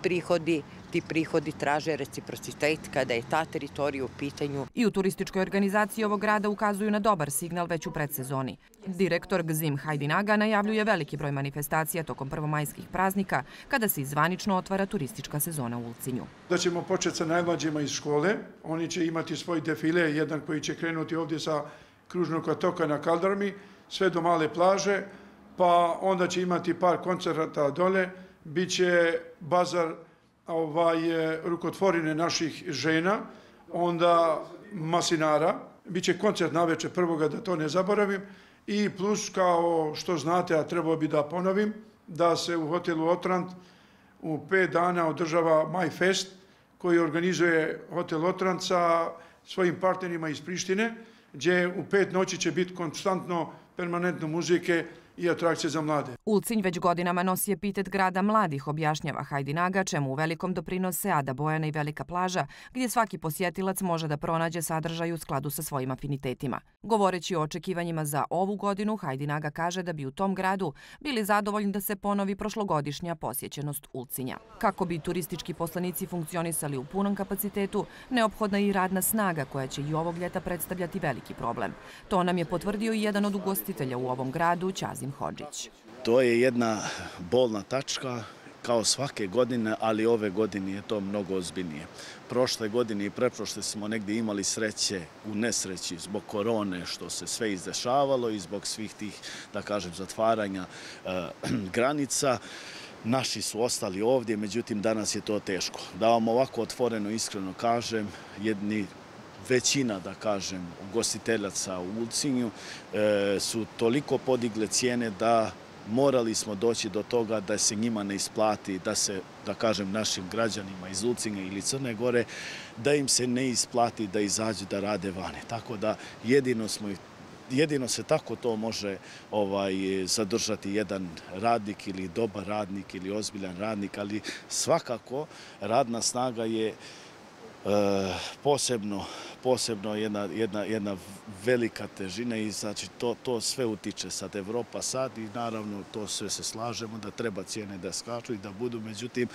prihodi traže reciprocitet kada je ta teritorija u pitanju. I u turističkoj organizaciji ovog grada ukazuju na dobar signal već u predsezoni. Direktor Gzim Hajdinaga najavljuje veliki broj manifestacija tokom prvomajskih praznika kada se zvanično otvara turistička sezona u Ulcinju. Da ćemo početi sa najmlađima iz škole. Oni će imati svoj defile, jedan koji će krenuti ovdje sa Kružnog otoka na Kaldarmi, sve do Male plaže, pa onda će imati par koncerata dole, bit će bazar rukotvorine naših žena, onda masinara, bit će koncert navečer prvoga, da to ne zaboravim, i plus, kao što znate, a trebao bi da ponovim, da se u hotelu Otrant u 5 dana održava Maj Fest, koji organizuje hotel Otrant sa svojim partnerima iz Prištine, gdje u 5 noći će biti konstantno, permanentno muzike i atrakcije za mlade. Ulcinj već godinama nosi epitet grada mladih, objašnjava Hajdinaga, čemu u velikom doprinose Ada Bojana i Velika plaža, gdje svaki posjetilac može da pronađe sadržaj u skladu sa svojim afinitetima. Govoreći o očekivanjima za ovu godinu, Hajdinaga kaže da bi u tom gradu bili zadovoljni da se ponovi prošlogodišnja posjećenost Ulcinja. Kako bi turistički poslanici funkcionisali u punom kapacitetu, neophodna je i radna snaga koja će i ovog ljeta predstavljati veliki problem. To nam je potvrdio i jedan od ugostitelja u ovom gradu, Ćazim Hodžić. To je jedna bolna tačka kao svake godine, ali ove godine je to mnogo ozbiljnije. Prošle godine i preprošle smo negdje imali sreće u nesreći zbog korone, što se sve izdešavalo i zbog svih tih, da kažem, zatvaranja granica. Naši su ostali ovdje, međutim danas je to teško. Da vam ovako otvoreno, iskreno kažem, većina, da kažem, ugostiteljaca u Ulcinju su toliko podigle cijene da morali smo doći do toga da se njima ne isplati, da se, da kažem, našim građanima iz Ulcinja ili Crne Gore, da im se ne isplati da izađu da rade vane. Tako da jedino se tako to može zadržati jedan radnik ili dobar radnik ili ozbiljan radnik, ali svakako radna snaga je posebno jedna velika težina i znači to sve utiče sad Evropa sad i naravno to sve se slažemo da treba cijene da skaču i da budu, međutim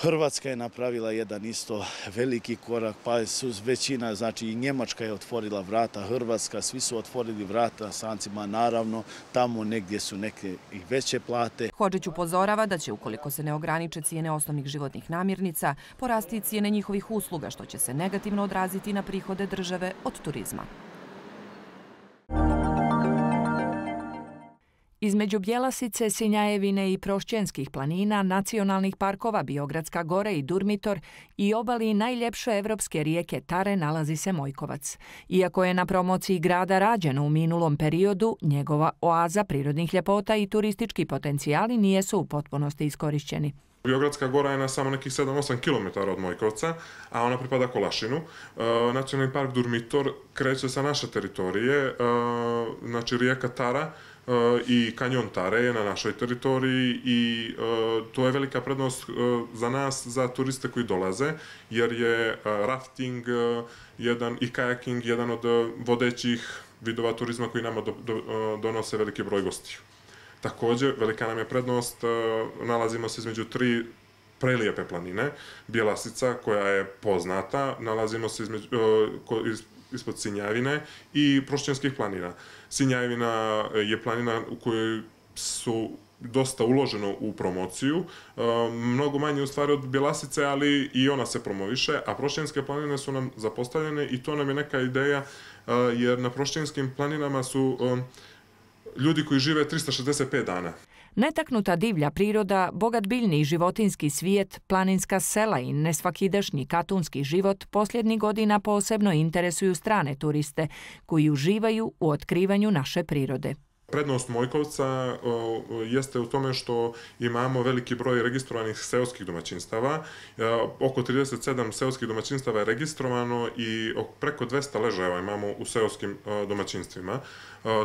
Hrvatska je napravila jedan isto veliki korak, pa su većina, znači i Njemačka je otvorila vrata, Hrvatska, svi su otvorili vrata strancima, naravno tamo negdje su neke i veće plate. Hodžić upozorava da će, ukoliko se ne ograniče cijene osnovnih životnih namirnica, porasti i cijene njihovih usluga, što će se negativno odraziti na prihode države od turizma. Između Bjelasice, Sinjajevine i Prošćenskih planina, nacionalnih parkova Biogradska Gora i Durmitor i obali najljepše evropske rijeke Tare nalazi se Mojkovac. Iako je na promociji grada rađeno u minulom periodu, njegova oaza prirodnih ljepota i turistički potencijali nijesu u potpunosti iskorišćeni. Biogradska Gora je na samo nekih 7-8 km od Mojkovca, a ona pripada Kolašinu. Nacionalni park Durmitor kreće sa naše teritorije, znači rijeka Tara i kanjon Tare je na našoj teritoriji i to je velika prednost za nas, za turiste koji dolaze, jer je rafting i kajaking jedan od vodećih vidova turizma koji nama donose veliki broj gostiju. Također, velika nam je prednost, nalazimo se između 3 prelijepe planine, Bjelasica koja je poznata, nalazimo se ispod Sinjajevine i Prošćenskih planina. Sinjajevina je planina u kojoj su dosta uloženo u promociju, mnogo manje u stvari od Bjelasice, ali i ona se promoviše, a Prošćenske planine su nam zapostavljene i to nam je neka ideja, jer na Prošćenskim planinama su ljudi koji žive 365 dana. Netaknuta divlja priroda, bogat biljni i životinski svijet, planinska sela i nesvakidašnji katunski život posljednjih godina posebno interesuju strane turiste koji uživaju u otkrivanju naše prirode. Prednost Mojkovca jeste u tome što imamo veliki broj registrovanih seoskih domaćinstava. Oko 37 seoskih domaćinstava je registrovano i preko 200 ležajeva imamo u seoskim domaćinstvima.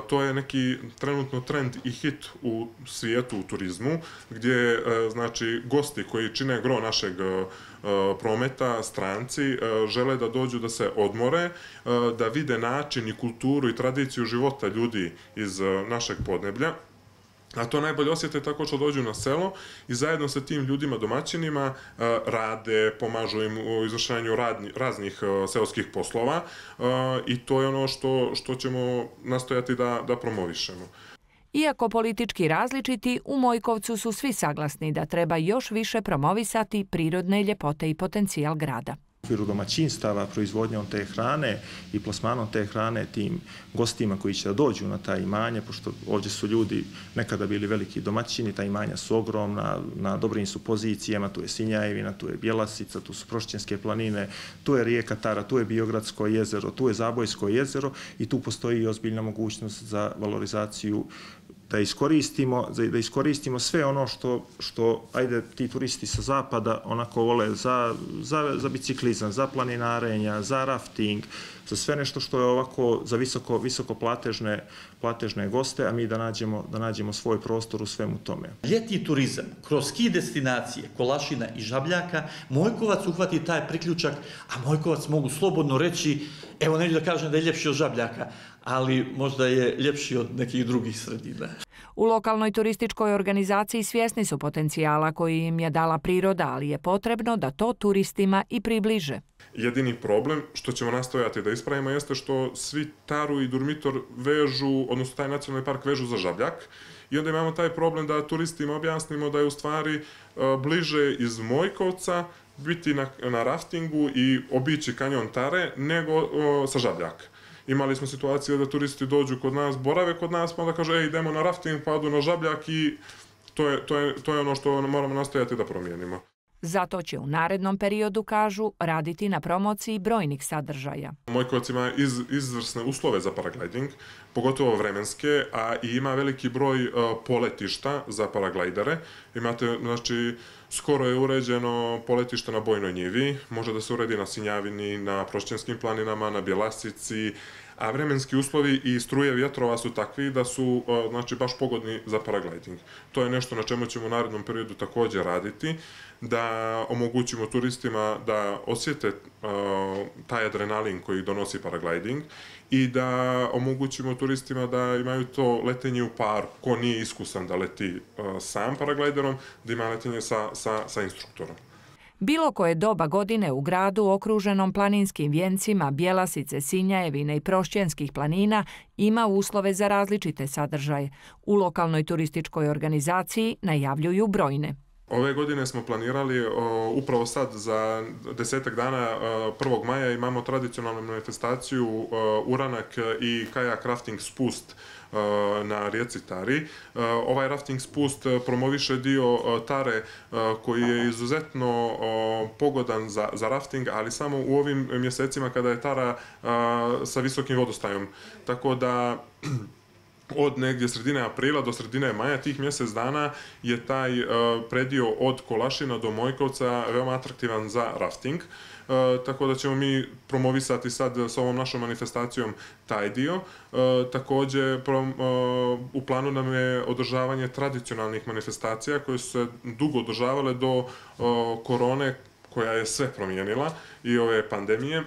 To je neki trenutno trend i hit u svijetu, u turizmu, gdje znači gosti koji čine gro našeg prometa, stranci, žele da dođu da se odmore, da vide način i kulturu i tradiciju života ljudi iz našeg podneblja. A to najbolje osjete tako što dođu na selo i zajedno sa tim ljudima, domaćinima, rade, pomažu im u izvršavanju raznih seoskih poslova i to je ono što ćemo nastojati da promovišemo. Iako politički različiti, u Mojkovcu su svi saglasni da treba još više promovisati prirodne ljepote i potencijal grada. U okviru domaćinstava, proizvodnjom te hrane i plasmanom te hrane tim gostima koji će da dođu na ta imanja, pošto ovdje su ljudi nekada bili veliki domaćini, ta imanja su ogromna, na dobrim su pozicijama, tu je Sinjajevina, tu je Bjelasica, tu su Prošćenske planine, tu je rijeka Tara, tu je Biogradsko jezero, tu je Zabojsko jezero i tu postoji ozbiljna mogućnost za valorizaciju da iskoristimo sve ono što ajde, ti turisti sa zapada onako vole za biciklizam, za planinarenja, za rafting, za sve nešto što je ovako za visoko platežne goste, a mi da nađemo svoj prostor u svemu tome. Ljetni turizam, kroz ski destinacije, Kolašina i Žabljaka, Mojkovac uhvati taj priključak, a Mojkovac mogu slobodno reći, evo neću da kažem da je ljepši od Žabljaka, ali možda je ljepši od nekih drugih sredina. U lokalnoj turističkoj organizaciji svjesni su potencijala koji im je dala priroda, ali je potrebno da to turistima i približe. Jedini problem što ćemo nastojati da ispravimo jeste što svi Taru i Durmitor vežu, odnosno taj nacionalni park vežu za Žabljak, i onda imamo taj problem da turistima objasnimo da je u stvari bliže iz Mojkovca biti na raftingu i obići kanjon Tare nego sa Žabljaka. Imali smo situacije da turisti dođu kod nas, borave kod nas, pa onda kažu idemo na rafting, pa odu na Žabljak i to je ono što moramo nastojati da promijenimo. Zato će u narednom periodu, kažu, raditi na promociji brojnih sadržaja. Mojkovac ima izvrsne uslove za paragliding, pogotovo vremenske, a i ima veliki broj poletišta za paraglajdere. Imate, znači, skoro je uređeno poletište na Bojnoj njivi, može da se uredi na Sinjavini, na Prošćenskim planinama, na Bjelasici, a vremenski uslovi i struje vjetrova su takvi da su baš pogodni za paragliding. To je nešto na čemu ćemo u narednom periodu također raditi, da omogućimo turistima da osjete taj adrenalin koji donosi paragliding i da omogućimo turistima da imaju to letenje u paru. Ko nije iskusan da leti sam paraglajderom, da ima letenje sa instruktorom. Bilo koje doba godine u gradu okruženom planinskim vijencima Bjelasice, Sinjajevine i Prošćenskih planina ima uslove za različite sadržaje. U lokalnoj turističkoj organizaciji najavljuju brojne. Ove godine smo planirali, upravo sad za 10 dana 1. maja imamo tradicionalnu manifestaciju Uranak i kajak rafting spust na rijeci Tari. Ovaj rafting spust promoviše dio Tare koji je izuzetno pogodan za rafting, ali samo u ovim mjesecima kada je Tara sa visokim vodostajom. Tako da od negdje sredine aprila do sredine maja, tih mjesec dana, je taj predio od Kolašina do Mojkovca veoma atraktivan za rafting. Tako da ćemo mi promovisati sad s ovom našom manifestacijom taj dio. Također u planu nam je održavanje tradicionalnih manifestacija koje su se dugo održavale do korone, koja je sve promijenila, i ove pandemije,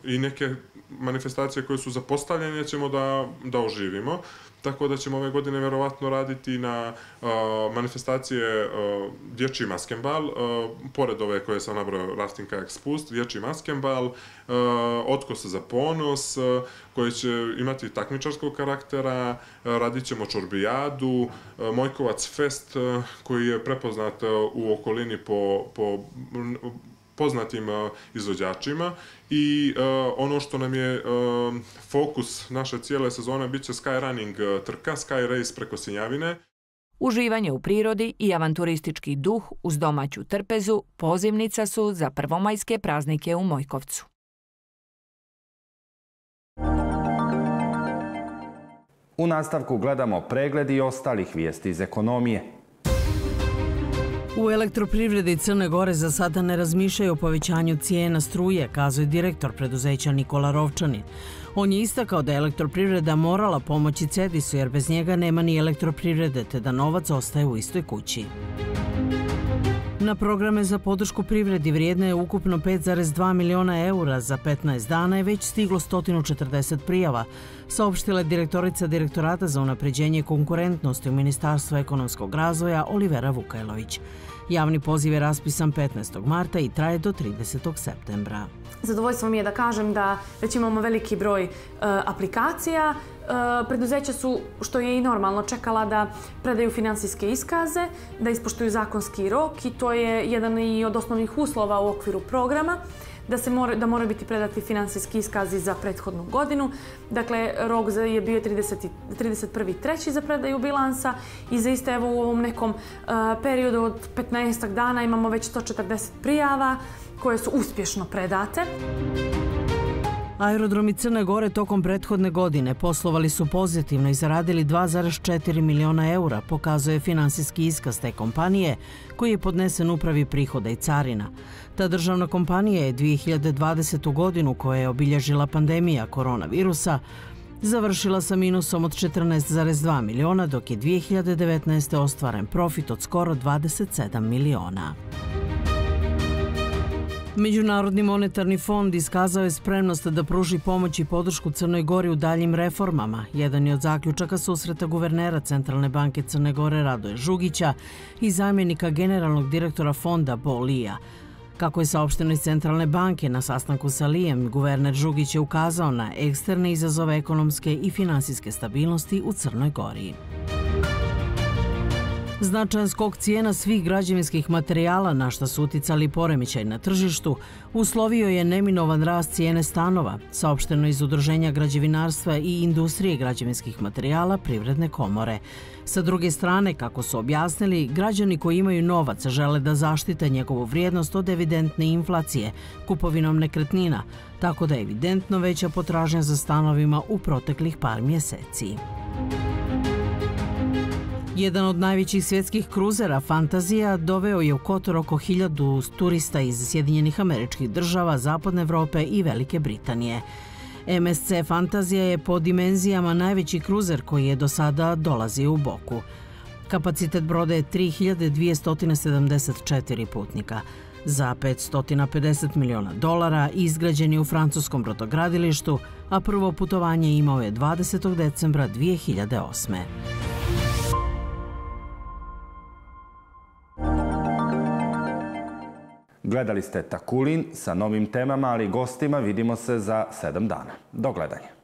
i neke manifestacije koje su zapostavljene ćemo da oživimo. Tako da ćemo ove godine vjerovatno raditi na manifestacije Dječji maskenbal, pored ove koje sam nabrojao, rafting, kajak, spust, Dječji maskenbal, Otkose za ponos, koji će imati takmičarskog karaktera, radit ćemo čorbijadu, Mojkovac fest, koji je prepoznat u okolini po poznatim izvođačima, i ono što nam je fokus naše cijele sezone bit će skyrunning trka, sky race preko Sinjavine. Uživanje u prirodi i avanturistički duh uz domaću trpezu pozivnica su za prvomajske praznike u Mojkovcu. U nastavku gledamo pregled i ostalih vijesti iz ekonomije. U elektroprivredi Crne Gore za sada ne razmišljaju o povećanju cijena struje, kazuje direktor preduzeća Nikola Rovčanin. On je istakao da je elektroprivreda morala pomoći Cedisu jer bez njega nema ni elektroprivrede, te da novac ostaje u istoj kući. Na programe za podršku privredi vrijedno je ukupno 5,2 miliona eura. Za 15 dana je već stiglo 140 prijava, saopštila je direktorica Direktorata za unapređenje konkurentnosti u Ministarstvu ekonomskog razvoja Olivera Vukajlović. Javni poziv je raspisan 15. marta i traje do 30. septembra. Zadovoljstvo mi je da kažem da već imamo veliki broj aplikacija. Preduzeća su, što je i normalno, čekala da predaju finansijske iskaze, da ispoštuju zakonski rok, i to je jedan i od osnovnih uslova u okviru programa, da moraju biti predati finansijski iskazi za prethodnu godinu. Dakle, rok je bio 31.3. za predaju bilansa i zaista evo u ovom nekom periodu od 15 dana imamo već 140 prijava koje su uspješno predate. Aerodromi Crne Gore tokom prethodne godine poslovali su pozitivno i zaradili 2,4 miliona eura, pokazuje finansijski iskaz te kompanije koji je podnesen upravi prihoda i carina. Ta državna kompanija je 2020. godinu, koja je obilježila pandemija koronavirusa, završila sa minusom od 14,2 miliona, dok je 2019. ostvaren profit od skoro 27 miliona. Međunarodni monetarni fond iskazao je spremnost da pruži pomoć i podršku Crnoj Gori u daljim reformama. Jedan je od zaključaka susreta guvernera Centralne banke Crne Gore Radoje Žugića i zamjenika generalnog direktora fonda Bo Lija. Kako je saopšteno iz Centralne banke, na sastanku sa Lijem, guverner Žugić je ukazao na eksterne izazove ekonomske i finansijske stabilnosti u Crnoj Gori. Značajan skok cijena svih građevinskih materijala, na što su uticali poremećaj na tržištu, uslovio je neminovan rast cijene stanova, saopšteno iz Udruženja građevinarstva i industrije građevinskih materijala Privredne komore. Sa druge strane, kako su objasnili, građani koji imaju novac žele da zaštite njegovu vrijednost od evidentne inflacije kupovinom nekretnina, tako da je evidentno veća potražnja za stanovima u proteklih par mjeseci. Jedan od najvećih svjetskih kruzera, Fantazija, doveo je u Kotor oko 1000 turista iz Sjedinjenih Američkih Država, Zapadne Evrope i Velike Britanije. MSC Fantazija je po dimenzijama najveći kruzer koji je do sada dolazio u Boku. Kapacitet broda je 3274 putnika. Za $550 miliona izgrađen je u francuskom brodogradilištu, a prvo putovanje imao je 20. decembra 2008. Gledali ste Takulin sa novim temama, ali i gostima. Vidimo se za 7 dana. Do gledanja.